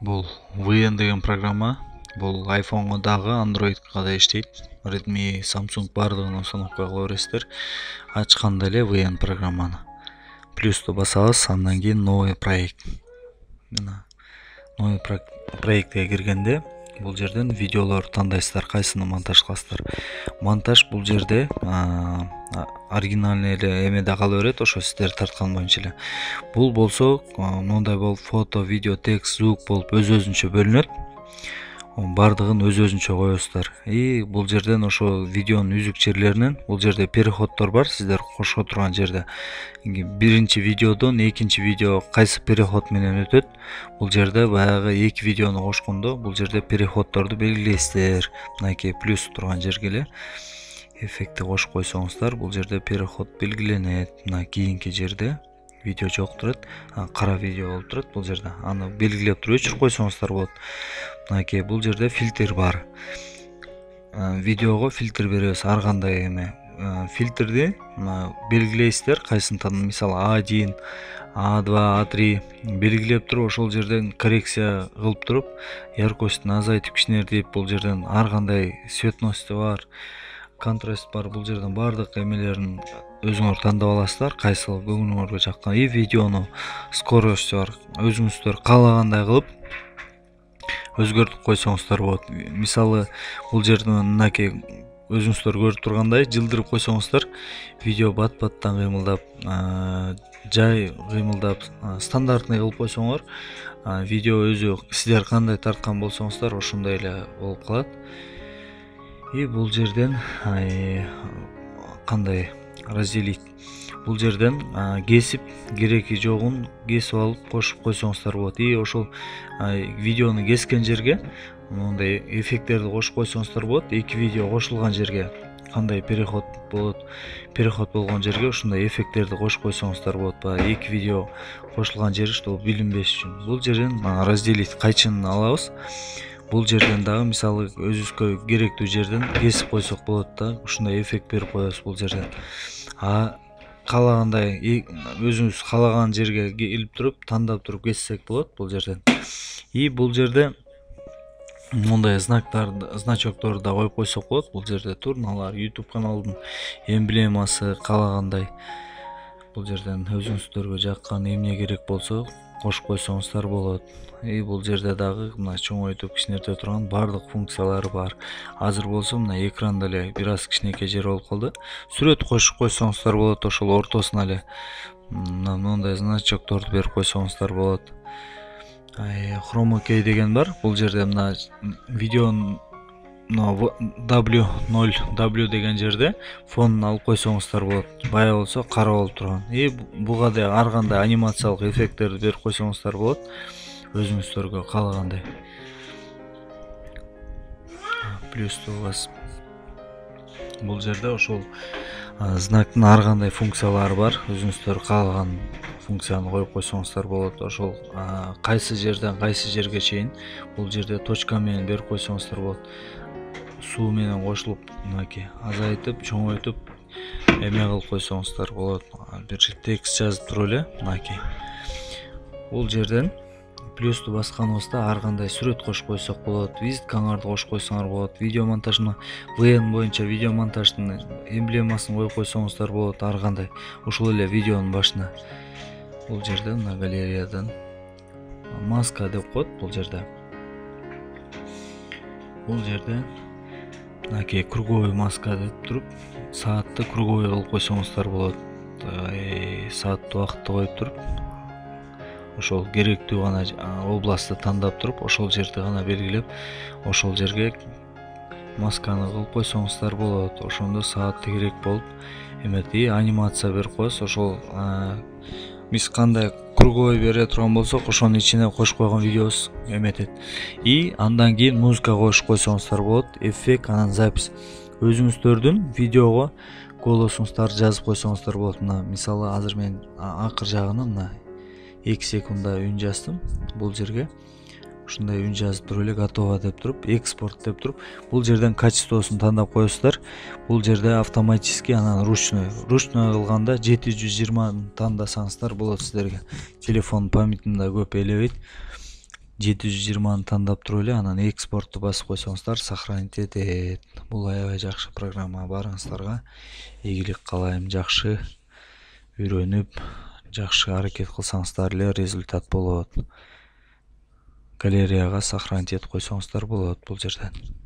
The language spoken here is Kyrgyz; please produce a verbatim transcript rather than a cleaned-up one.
Бул ви эн деген программа бул iPhone'го дагы Android'га да иштейт. Redmi, Samsung бардыгын установка кыла бересиздер. Ачканда эле ви эн программаны. Плюсту басабыз, андан кийин новый проект. Мына новый проектке киргенде бул жерден видеолорду тандайсыздар, кайсыны монтаж кыласыздар. Монтаж бул жерде оригинальный эле эмеде кала берет, ошо сиздер тарткан боюнча эле. Бул болсо мындай болуп фото, видео, текст, звук болуп өз-өзүнчө бөлүнөт. Бардыгын өз-өзүнчө коесуздар. И бул жерден ошо видеонун үзүк жерлеринен бул жерде переходдор бар, сиздер кошо турган жерде. Биринчи видеодон экинчи видео кайсы переход менен өтөт? Бул жерде баягы эки видеону кошкондо бул жерде переходдорду белгилейсиздер. Мынакей плюс турган жерге эле эффектти кошуп койсоңуздар, бул жерде переход белгиленет. Мына кийинки жерде видео жок турат, кара видео болуп турат бул жерде. Аны белгилеп туруп өчүрүп койсоңуздар болот. Мынакей бул жерде фильтр бар. Видеого фильтр беребиз, ар кандай эме. Фильтрди белгилейсиздер, кайсын тан, мисалы а один, а два, а три белгилеп туруп, ошол жерден коррекция кылып туруп, яркостун азайтып кичинертип, бул жерден ар кандай цветности бар, контраст бар, бул жерден бардык эмелерин өзүңөр тандап аласыздар, кайсы көңүлүңөргө жаккан. И видеону скоросту бар, өзүңүздөр каалагандай кылып өзгөртүп койсоңуздар болот. Мисалы бул жерден мынакей өзүңүздөр көрүп тургандай жылдырып койсоңуздар, видео бат-баттан кыймылдап, жай кыймылдап, стандартный кылып койсоңор, видео өзү сиздер кандай тарткан болсоңуздар ошондой эле болуп калат. И бул жерден кандай разделить? Бул жерден кесип, кереги жогун кесип алып кошуп койсоңуздар болот. И ошол видеону кескен жерге мындай эффекттерди кошуп койсоңуздар болот. Эки видео кошулган жерге кандай переход болот? Переход болгон жерге ушундай эффекттерди кошуп койсоңуздар болот. Баягы эки видео кошулган жери что билинбеш үчүн. Бул жерден разделить кайчынын алабыз. Бул жерден дагы мисалы өзүбүзгө керектүү жерден кесип койсок болот да, ушундай эффект берип коебуз бул жерден. А каалагандай өзүңүз каалаган жерге келип туруп, тандап туруп кессек болот бул жерден. И бул жерде мындай знактарды, значокторду да коюп койсок болот. Бул жерде турналар, YouTube каналдын эмблемасы каалагандай. Бул жерден өзүңүздөргө жаккан эмне керек болсо кошуп койсоңуздар болот. И бул жерде дагы мына чоңойтуп кичинерте турган бардык функциялары бар. Азыр болсо мына экранда эле бир аз кичинекей жер болуп калды. Сүрөт кошуп койсоңуздар болот, ошол ортосуна эле мындай значокторду берип койсоңуздар болот. Chroma key деген бар. Бул жерде мына видеонун дабл ю ноль дабл ю деген жерде фонун алып койсоңуздар болот. Бая болсо кара болуп турган. И буга да ар кандай анимациялык эффекттерди берип койсоңуздар болот. Өзүңүздөргө каалагандай. Плюсту бас. Бул жерде ошол знактын ар кандай функциялары бар. Өзүңүздөр каалаган функцияны коюп койсоңуздар болот. Ошол кайсы жерден кайсы жерге чейин бул жерде точка менен берип койсоңуздар болот. Суу менен кошулуп, мынакей азайтып, чоңойтуп эме кылып койсоңуздар болот. Бир текст жазып туруп эле, мынакей. Бул жерден плюсту басканыбызда ар кандай сүрөт кошуп койсок болот, визиткаңарды кошуп койсоңор болот. Видео монтажына ви эн боюнча видео монтаждын эмблемасын коюп койсоңуздар болот, ар кандай. Ушул эле видеонун башына. Бул жерде мына галереядан маска деп коет бул жерде. Бул жерде мынакей круговой маска деп туруп, саатты круговой кылып койсоңуздар болот. Саатты убакытты коюп туруп, ошол керектүү гана областты тандап туруп, ошол жерди гана белгилеп, ошол жерге масканы кылып койсоңуздар болот. Ошондо саатты керек болуп эмет. И анимация берип коесуз. Ошол биз кандай круговой бере турган болсок, ошонун ичине кошуп койгон видеобуз эметет. И андан кийин музыка кошуп койсоңуздар болот. Эффект, анан запись. Өзүңүздөрдүн видеого голосуңуздарды жазып койсоңуздар болот. Мына мисалы азыр мен акыр жагына мына эки секундда үн жаздым. Бул жерге ушундай үн жазып туруп эле готово деп туруп, экспорт деп туруп, бул жерден качествосун тандап коесуздар. Бул жерде автоматически анан ручной. Ручной кылганда жети жүз жыйырма тандасаңыздар болот сиздерге. Телефон памятында көп элебейт. жети жүз жыйырманы тандап туруп эле анан экспортту басып койсоңуздар сохранить этет. Бул аябай жакшы программа. Баарыңыздарга ийгилик каалайм. Жакшы үйрөнүп, жакшы аракет кылсаңыздар эле результат болот. Галереяга сохранить этип койсоңуздар болот бул жерден.